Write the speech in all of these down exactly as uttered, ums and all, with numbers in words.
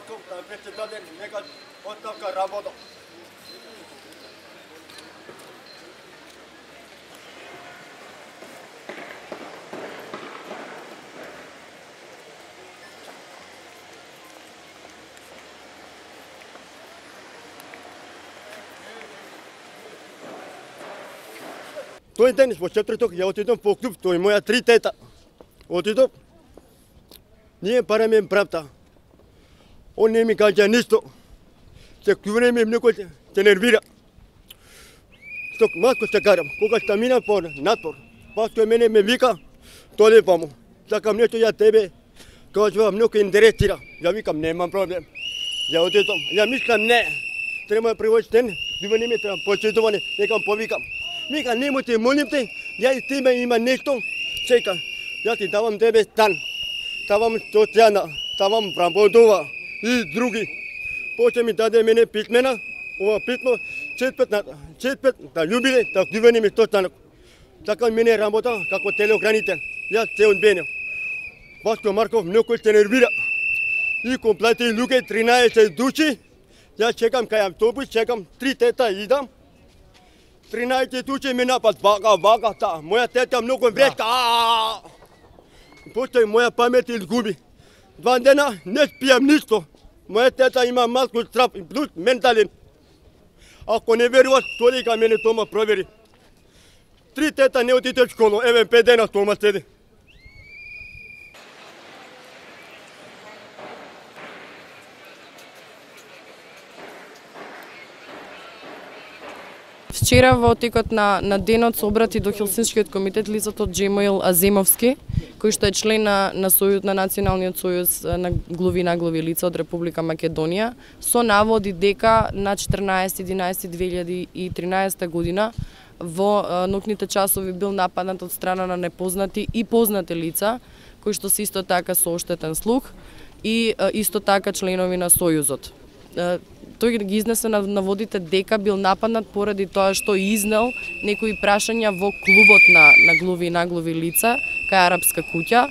Марков, председател, нека оставка работа. Тој ден во четврток ја отидов по клуб, тој моја три тета. Отидов. Ние параме правта. Он не ми кажа ништо. Се клюваме многу се нервира. Сток малко се карам. Кога што мина по натпор, паска мене ме вика, толе памо. Сакам нешто ја тебе. Кажува многу интересира. Ја викам немам проблем. Ја отидов. Ја мислам не. Треба превоз ден, бива не ме треба почитуване, некам повикам. Мика, немо те молим те, ја и тебе има нешто, чека, ја ти давам тебе стан, давам социјана, давам работува и други. После ми даде мене писмена, ова писмо, четпет на четпет да љубиле, да дивени ми состанок. Така мене работа како телеохранител, ја се одбенев. Баско Марков многу се нервира. И комплети луѓе тринаесет души, ја чекам кај автобус, чекам три тета идам. тринаесет души ми напад, вака, вака, та. Моја тета многу врска. После моја памет изгуби. Два дена не спијам ништо. Моја тета има малку страв, плюс ментален. Ако не веруваш, толика мене тома провери. Три тета не отиде в школу, еве пет дена тома седи. Вчера во текот на, на денот се обрати до Хелсинскиот комитет лицето Джемоил Аземовски, кој што е член на, на, сојуз, на Националниот сојуз на глави наглави лица од Република Македонија, со наводи дека на четрнаесети единаесети две илјади и тринаесета година во ноќните часови бил нападнат од страна на непознати и познати лица, кои што се исто така со оштетен слух и исто така членови на Сојузот. Тој ги изнесе на наводите дека бил нападнат поради тоа што изнел некои прашања во клубот на, на глави и наглави лица, кај Арапска куќа,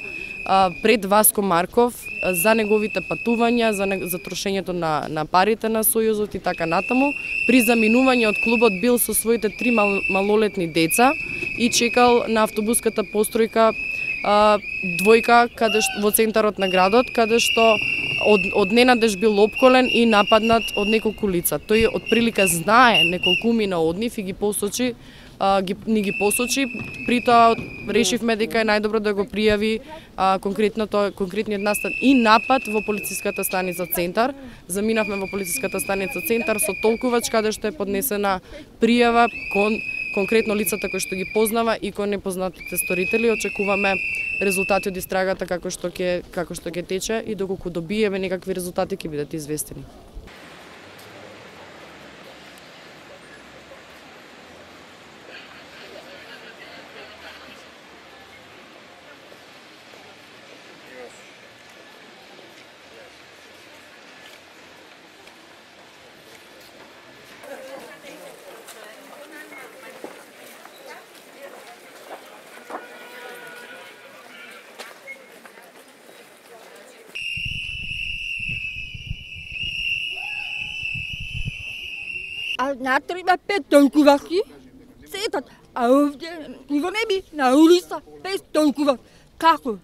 пред Васко Марков, за неговите патувања, за, не, за трошењето на, на парите на Сојузот и така натаму. При заминување од клубот бил со своите три мал, малолетни деца и чекал на автобуската постројка а, двојка каде што, во центарот на градот, каде што од, од ненадеж бил опколен и нападнат од неколку лица. Тој отприлика знае неколкумина од нив и ги посочи, а, ги, ни ги посочи, при тоа решивме дека е најдобро да го пријави а, конкретното, конкретниот настан и напад во полициската станица Центар. Заминавме во полициската станица Центар со толкувач каде што е поднесена пријава кон конкретно лицата кои што ги познава и кон непознатите сторители. Очекуваме резултати од истрагата како што ќе како што ќе тече и доколку добиеме некакви резултати ќе бидат известени. А натре има пет толкуваки, сетат, а овде во неби на улица без толкува. Како?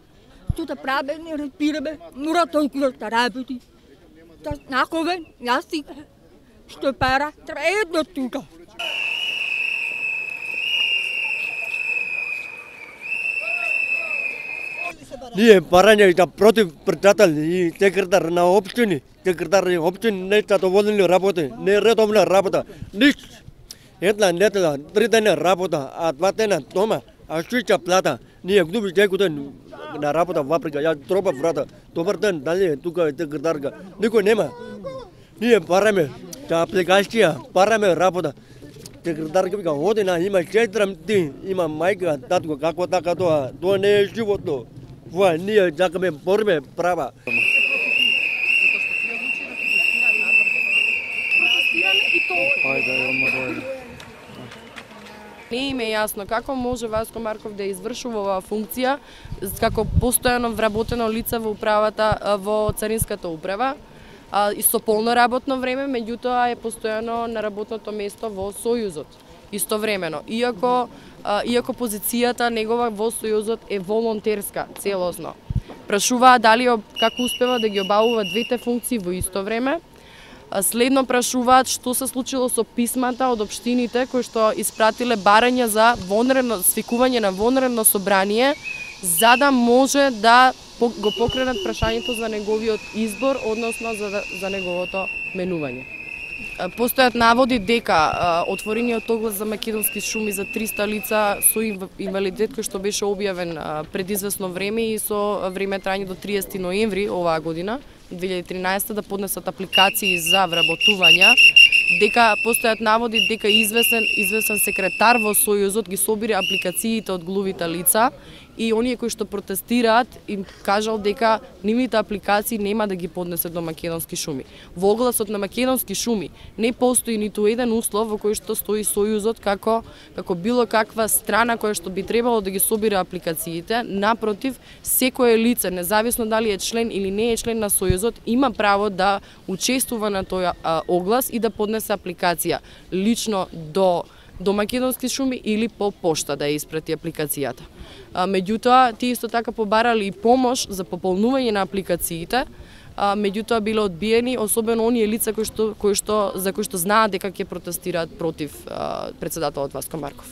Тута праве не разбираме, мора толкува да работи. Та наковен, јас си, што пара, тредно тука. Ние барање да против председател и секретар на општини, секретар на општини не задоволени работи, не редовна работа, ниш. Една недела, три дена работа, а два дена дома, а шуќа плата. Ние губи секој ден на работа во Африка, ја тропа врата. Добар ден, дали тука е секретарка. Никој нема. Ние бараме за апликација, бараме работа. Секретарка вика, одина има четирам ти, има мајка, татко, како така тоа, тоа не е животно. Во ние сакаме бориме права. Не им е јасно како може Васко Марков да извршува оваа функција како постојано вработено лице во управата во Царинската управа. а, и со полно работно време, меѓутоа е постојано на работното место во Сојузот истовремено. Иако а, иако позицијата негова во Сојузот е волонтерска целосно. Прашуваа дали како успева да ги обавува двете функции во исто време. Следно прашуваат што се случило со писмата од општините кои што испратиле барања за вонредно свикување на вонредно собрание за да може да го покренат прашањето за неговиот избор, односно за, за неговото менување. Постојат наводи дека а, отворениот оглас за македонски шуми за триста лица со инвалидитет кој што беше објавен а, пред известно време и со време трајање до триесети ноември оваа година, две илјади и тринаесета, да поднесат апликации за вработувања, дека постојат наводи дека известен известен секретар во Сојузот ги собира апликациите од глувите лица и оние кои што протестираат им кажал дека нивните апликации нема да ги поднесат до македонски шуми. Во огласот на македонски шуми не постои ниту еден услов во кој што стои Сојузот како како било каква страна која што би требало да ги собира апликациите. Напротив, секое лице, независно дали е член или не е член на Сојузот, има право да учествува на тој а, оглас и да поднесе апликација лично до до македонски шуми или по пошта да ја испрати апликацијата. А, меѓутоа, тие исто така побарали и помош за пополнување на апликациите, а, меѓутоа биле одбиени, особено оние лица кои што, кои што, за кои што знаат дека ќе протестираат против а, председателот Васко Марков.